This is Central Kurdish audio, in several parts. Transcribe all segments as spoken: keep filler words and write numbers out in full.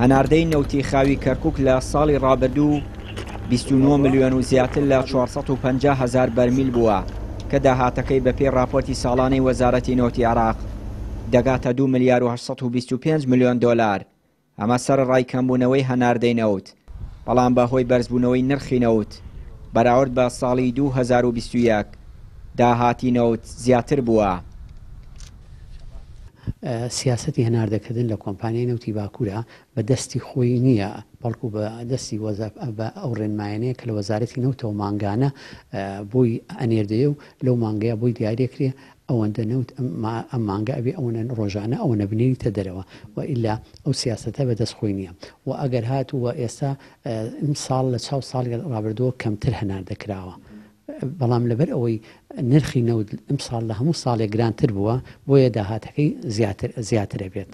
هەناردەی نەوتی خاوی کەرکوک لە ساڵی ڕابردوو بیست و نۆ ملیۆن و زیاتر لە چوار سەد و پەنجا هەزار بەرمیل بووە کە داهاتەکەی بەپێی ڕاپۆرتی ساڵانەی وەزارەتی نەوتی عێراق دەگاتە دوو ملیار و هەشت سەد و بیست و پێنج ملیۆن دۆلار. ئەمە سەرەڕای کەمبوونەوەی هەناردەی نەوت، بەڵام بەهۆی بەرزبوونەوەی نرخی نەوت بەراورد بە ساڵی دوو هەزار و بیست و یەک داهاتی نەوت زیاتر بووە. سیاسەتی هەناردەکردن لە کۆمپانیای نەوتی باکوورە بە دەستی خۆی نییە، بەڵکو بە دەستی بە ئەو ڕێنمایەنەیە کە لە وەزارەتی نەوتەوە مانگانە بۆی ئەنێردەیە و لەو مانگەیە بۆی دیارێکرێ ئەوەندە نەوت ئەم مانگە ئەبێ ئەوەنە ڕۆژانە ئەوەنە بنێریتە دەرەوە و ئیلا ئەو سیاسەتە بەدەست خۆی نییە. و ئەگەر هاتووە ئێستا ئەمساڵ لە چاو ساڵی ڕابردووە کەمتر هەناردە کراوە، بەڵام لەبەر ئەوەی نرخی نەوت ئەمساڵ لە هەموو ساڵێک گرانتر بووە بۆیە داهاتەکەی زیاتر زیاترە بێت.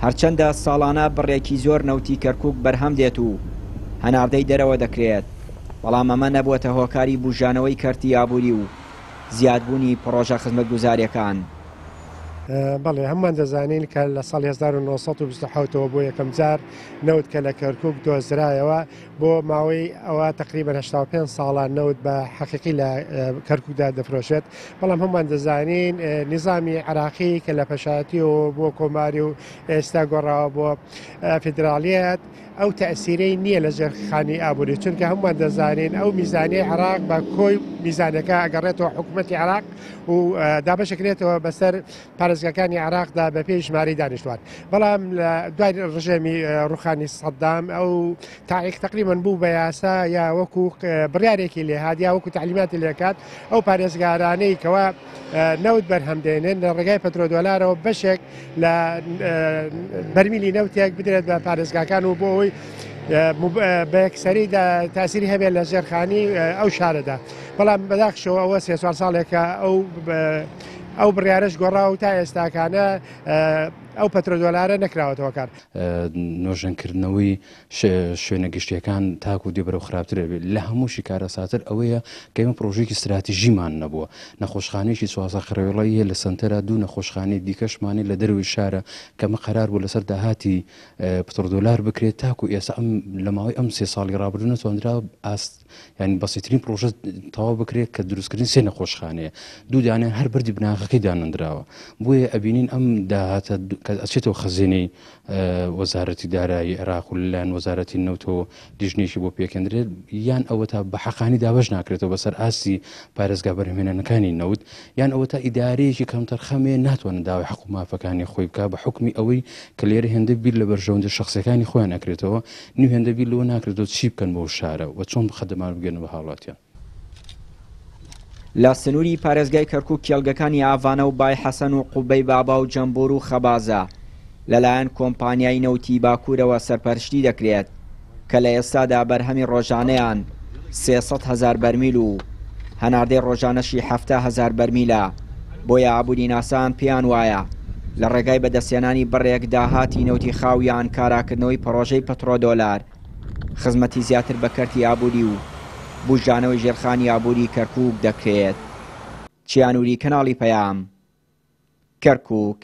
هەرچەندە ساڵانە بڕێکی زۆر نەوتی کەرکوک بەرهەم دێت و هەناردەی دەرەوە دەکرێت، بەڵام ئەمە نەبووەتە هۆکاری بژانەوەی کەرتی ئابووری و زیادبوونی پرۆژە خزمەتگوزاریەکان. بەڵێ، هەمومان دەزانین کە لە ساڵی هەزار و نۆ سەد و بیست و حەوتەوە بۆ یەکەم جار نەوت کە لە کەرکوک دۆزرایەوە بۆ ماوەی ئەوە تقریبا هەشتا و پێنج ساڵان نەوت بە حەقیقی لە کەرکوکدا دەفرۆشێت. بەڵام هەمومان دەزانین نظامی عراقی کە لە پەشایەتیەوە بۆ کۆماری و ئێستا گۆڕاوە بۆ فیدراڵیەت ئەو تەئسیرەی نییە لە ژێرخانی ئابووری، چونکە هەمومان دەزانین ئەو میزانیەی عراق بە کۆی میزانەکە ئەگەڕێتەوە حکوومەتی عراق و دابەشەکرێتەوە بەسەر پارێزگاکانی عراقدا بە پێی ژمارەی دانیشتوان. بەڵام لە دوای ڕژێمی ڕوخانی سەدام ئەو تاریخ تقریبا بوو بە یاسا یا وەکو بڕیارێکی لێهات یا وەکو تعلیماتی لێکات ئەو پارێزگارانەی کەوا نەوت بەرهەم دێنن لە ڕێگای پەترۆدۆلارەوە بەشێک لە بەرمیلی نەوتێک بدرێت بە پارێزگاکان و بۆ ئەوەی بە یەکسەری تاسیری هەبێت لە ژێرخانی ئەو شارەدا. بەڵام بەداخشەوە ئەوە سێ چوار ساڵێکە ئەو ئەو بڕیارش گۆڕا و تا ئێستاکانە ئەو پەترۆدۆلارە نەکراوەتەوە کار. نۆژەنکردنەوەی شوێنە گشتیەکان تاکو دێ بەرەو خراپتر بێت. لە هەمووشی کارەساتر ئەوەیە کە ئێمە پرۆژێکی استراتیژیمان نەبووە. نەخۆشخانەیەکی چوازە خڕێڵەی هەیە لە سەنتەرە، دوو نەخۆشخانەی دیکەشمانەی لە دەرەوەی شارە کە ئەمە قەرار بوو لەسەر داهاتی پترۆدۆلار بکرێت تاکو ئێستا ئەم لە ماوەی ئەم سێ ساڵی ڕابردوو نەتوانرا ئاست یعنی بەسیترین پرۆژە تەواو بکرێت کە دروستکردن سێ نەخۆشخانەیە، دوو دانیان هەر بەردی بناغەکەی دانەندراوە. بۆیە ئەبینین ئەم داهاتە کە ئەچێتەوە خەزێنەی وەزارەتی دارایی عێراق و لەلایەن وەزارەتی نەوتەوە لیژنێکی بۆ پێکەندرێت، یان ئەوە تا بە حەقانی دابەش ناکرێتەوە بەسەر ئاستی پارێزگا بەرهەمهێنانەکانی نەوت، یان ئەوە تا ئیدارەیەکی کەمتەرخەمێ ناتوانن داوای حەق و مافەکانی خۆی بکا بە حکمی ئەوەی کە لێرە هێندە بیر لە بەرژەوەندی شخصیەکانی خۆیان ئەکرێتەوە، نیو هێندە بیر لەوە ناکرێتەوە چی بکەن بۆ شارە و چۆن خەدەمان بگەنە بە هاوڵاتیان. لە سنووری پارێزگای کەرکوک کێڵگەکانی ئاڤانە و بای حەسەن و قوبەی بابا و جەمبور و خەبازە لەلایەن کۆمپانیای نەوتی باکوورەوە سەرپەرشتی دەکرێت کە لە ئێستادا بەرهەمی ڕۆژانەیان سێ سەد هەزار بەرمیل و هەناردەی ڕۆژانەشی حەفتا هەزار بەرمیلە. بۆیە ئابووری ناسان پێیان وایە لە ڕێگای بەدەستهێنانی بڕێک داهاتی نەوتی خاویان کاراکردنەوەی پرۆژەی پترۆدۆلار خزمەتی زیاتر بە کەرتی ئابووری و بژانەوەی ژێرخانی ئابووری کەرکوک دەکرێت. چیانوری، کەناڵی پەیام، کەرکوک.